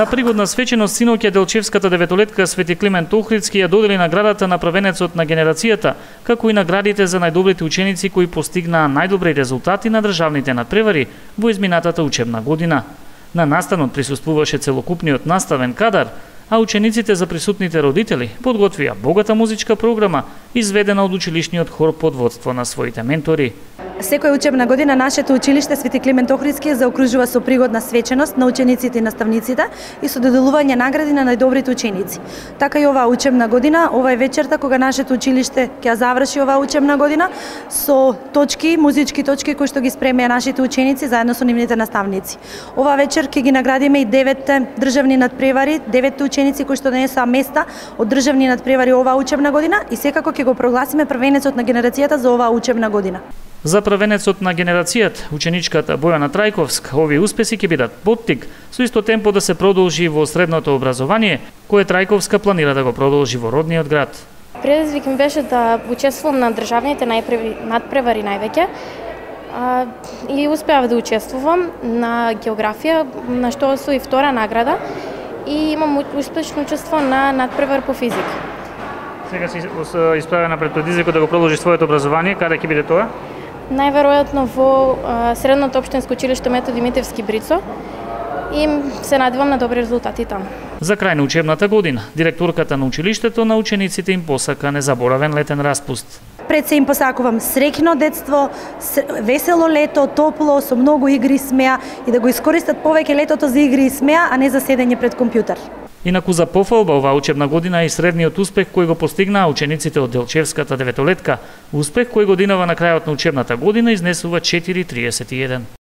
На пригодна свеченост синоќа делчевската деветолетка Свети Климент Охридски ја додели наградата на првенецот на генерацијата, како и наградите за најдобрите ученици кои постигнаа најдобри резултати на државните надпревари во изминатата учебна година. На настанот присуствуваше целокупниот наставен кадар, а учениците за присутните родители подготвија богата музичка програма, изведена од училишниот хор под водство на своите ментори. Секоја учебна година нашето училиште Свети Климент Охридски заокружува со пригодна свеченост на учениците и наставниците и со доделување награди на најдобрите ученици. Така и оваа учебна година, ова е вечерта кога нашето училиште ќе заврши оваа учебна година со точки, музички точки кои што ги спремија нашите ученици заедно со нивните наставници. Оваа вечер ќе ги наградиме и 9 државни надпревари, 9 ученици кои што донесоа места од државни надпревари оваа учебна година и секако ќе го прогласиме првенецот на генерацијата за оваа учебна година. За првенецот на генерацијата, ученичката Бојана Трајковска, овие успеси ќе бидат поттик со исто темпо да се продолжи во средното образование, кое Трајковска планира да го продолжи во родниот град. Предизвик ми беше да учествувам на државните надпревари највеќе и успеав да учествувам на географија, на што освои втора награда и имам успешно учество на надпревар по физика. Сега си исправена пред предизвикот да го продолжи своето образование, каде ќе биде тоа? Најверојатно во Средното општинско училиште Методи Митевски Брицо и се надевам на добри резултати таму. За крај на учебната година, директорката на училиштето на учениците им посака незаборавен летен распуст. Пред се им посакувам среќно детство, весело лето, топло, со многу игри и смеа и да го искористат повеќе летото за игри и смеа, а не за седење пред компјутер. Инаку за пофалба оваа учебна година е и средниот успех кој го постигнаа учениците од Делчевската деветолетка, успех кој годинава на крајот на учебната година изнесува 4,31.